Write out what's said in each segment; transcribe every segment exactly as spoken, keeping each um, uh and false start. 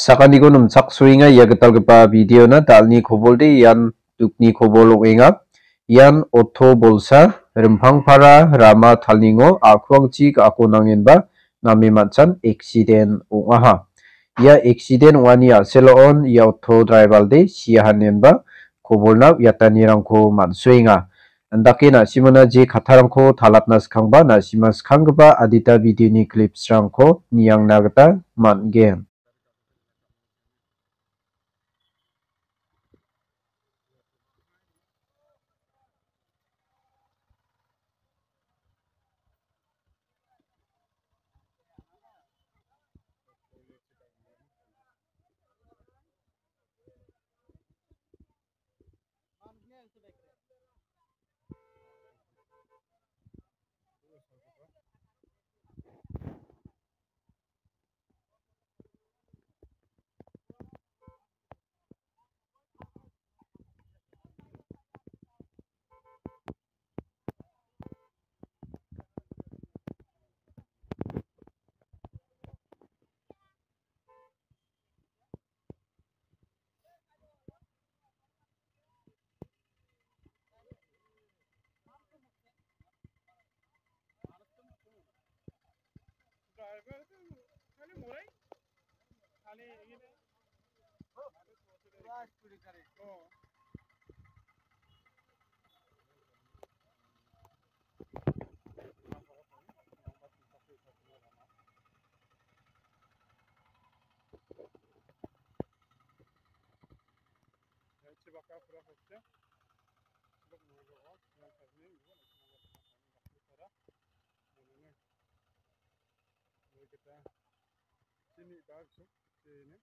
Sakaniko nimchaksoenga ia gitalgipa videona. Dalni kobolde ian dukni kobol ong·enga. Ian oto bolsa Rimpangpara rama talningo a·kuangchi ga·ako nangenba name man·chan eksiden ong·aha. Ia eksiden ong·ani a·seloon ia oto draibalde sia hanenba kobolna uiatanirangko man·soenga. Indake na·simona je kattarangko talatna skangba na·sima skanggipa adita videoni clipsrangko niangna gita man·gen. Sini ba su, sini.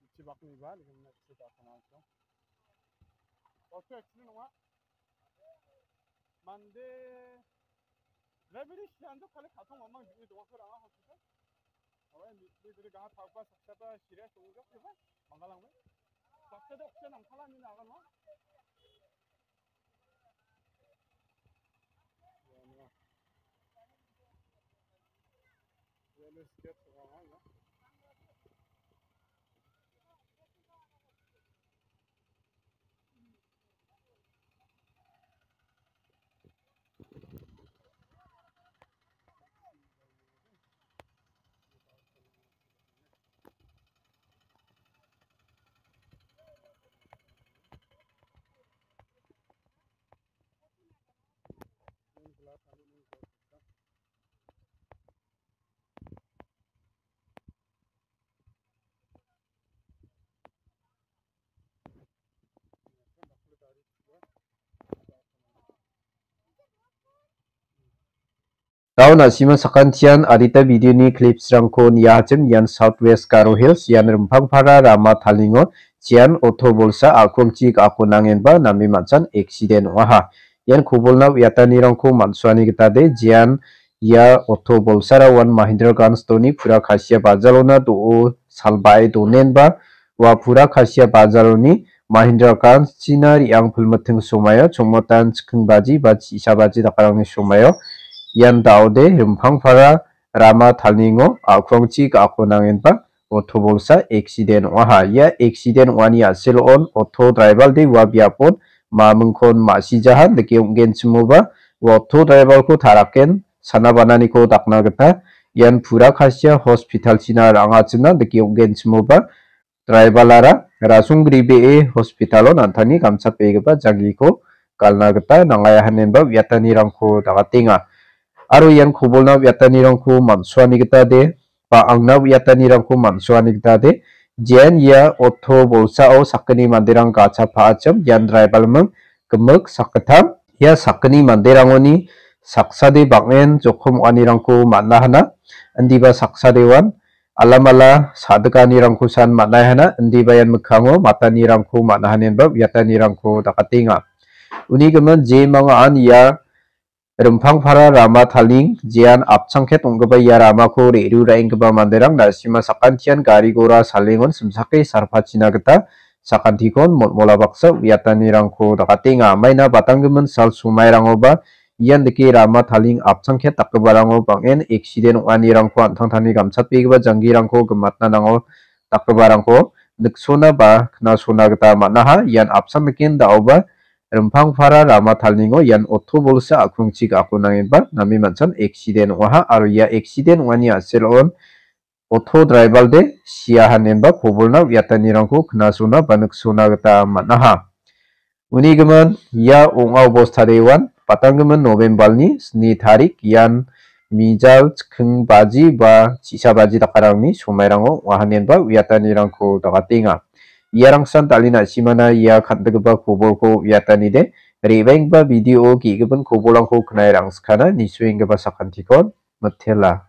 Ichibakni ba, ni kena sida kana so. Oke, sini nonga. Mande, lebih sian tu kali katong mamang di dua orang hospital. Awai, ni, ni dari gaha tau ba saksa ba serious tu enggak tu ba, manggalang ba. Saksa dok sian nang kala ni naga no. Daun a·sima sakantian adita videoni clipsrangko niahachim. Ian South West Garo Hills, ian Rimpangpara rama talingo, jian oto bolsa a·kuangchi ga·ako nangenba name man·chan eksiden ong·aha. Ian kobolna uiatanirangko man·suani gita de, jian ia oto bolsara uan Mahindra Ganj doni pura Kasia bajalona do·o salbae donenba ua pura Kasia bajaloni Mahindra Ganj china re·ang pilmiting somaio chongmotan chikking baji ba chi·sa baji dakarangni somaio ian daode Rimpangpara rama talingo a·kuangchi ga·ako nangenba oto bolsa eksiden ong·aha. Ia eksiden ong·ani a·seloon oto draibalde ua biapon mamingkon ma·sijahan dike ong·genchimoba ua oto draibalko taraken sana bananiko dakna gita ian pura Kasia hospital-china ra·angachimna dike ong·genchimoba draibalara rasonggribee hospitalo nantani gamchatbegipa janggiko galna gita nangaiahanenba uiatanirangko dagatenga. Aro ian kobolna uiatanirangko man·suani gita de, ba angna uiatanirangko man·suani gita de, jean ia oto bolsao sakgni manderang gacha pa·achim ian draibalming gimik sakgittam. Ia sakgni manderangoni saksade bang·en jokom ong·anirangko man·a hana, indiba saksadewan alamala sa·dikanirangkosan man·ai hana, indiba ian mikkango matanirangko man·a hanenba uiatanirangko dakatenga. Uni gimin jemangaan ia Rimpangpara rama taling jean apchangket ong·gipa ia ramako re·ruraenggipa manderang na·sima sakantian gari gora salengon simsake sarpachina gita sakantikon molmola baksa uiatanirangko dakatenga. Maina batanggimin sal somairangoba ian dike rama taling apchangket dakgiparango bang·en eksiden ong·anirangko an·tangtangni gamchatbegipa janggirangko gimatna nango dakgiparangko niksona ba knasona gita man·aha. Ian apsan niken da·oba Rimpangpara rama talningo ian oto bolsa a·kungchi ga·ako nangenba name man·chan eksiden ong·aha aro ia eksiden ong·ani a·selon oto draibalde sia hanenba kobolna uiatanirangko knasona ba niksona gita man·aha. Uni gimin ia ong·a obosta dewan patanggimin November-ni sni tarik ian mijal chikking baji ba chisa baji dakarangni somairango ong·a hanenba uiatanirangko dagatenga. Iarangsan dal·e na·simana ia kan·gipa kobolko uiatanide re·baenggipa video ge·gipin kobolrangko knae rangskana nisuenggipa sakantikon mitela.